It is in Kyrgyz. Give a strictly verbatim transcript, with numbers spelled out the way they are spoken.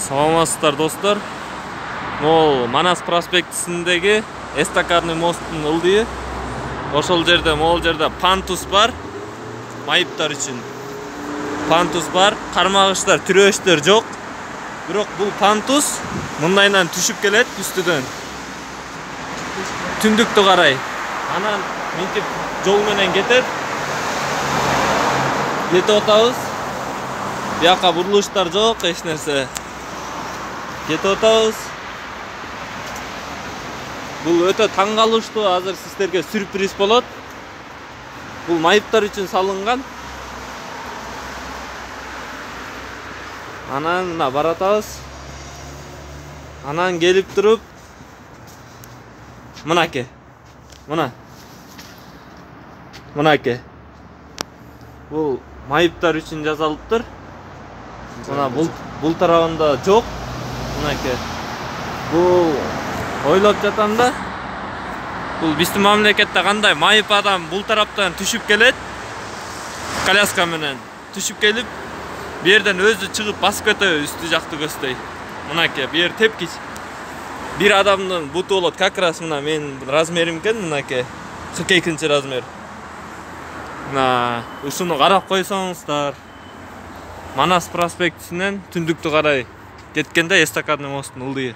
Саламатсыздар достор. Мол Манас проспектисиндеги эстакадный мосттун ылдыйы. Ошол жерде, могул жерде пантус бар. Майыптар үчүн пантус бар. Кармагыштар, түрөөчтөр жок. Бирок бул пантус мындайынан түшүп келет үстүдөн. Түндүктү карай. Анан мынтип жол менен кетет. Кетип атабыз. Бияка бурулуштар жок, эч нерсе. Кетип атабыз. Бул өтө таң калыштуу, азыр сиздерге сюрприз болот. Бул майыптар үчүн салынган. Анан мына баратабыз. Анан келип туруп мынаке. Мына. Мынаке. Бул майыптар үчүн жасалыптыр. Мына бул бул тарабында жок. Мынаке. Бул ойлоп жатам да. Бул биздин мамлекетте кандай майып адам бул тараптан түшүп келет. Коляска менен түшүп келип, бу жерден өзү чыгып басып кетеби үстү жакты көздөй. Мынаке, бу жер тепкич. Бир адамдын буту болот, как раз мына менин размерим экен, мынаке. кырк экинчи размер. Мына ушуну карап койсоңуздар. Манас проспектисинен түндүктү карай кеткенде эстакадный мосттун ылдыйы.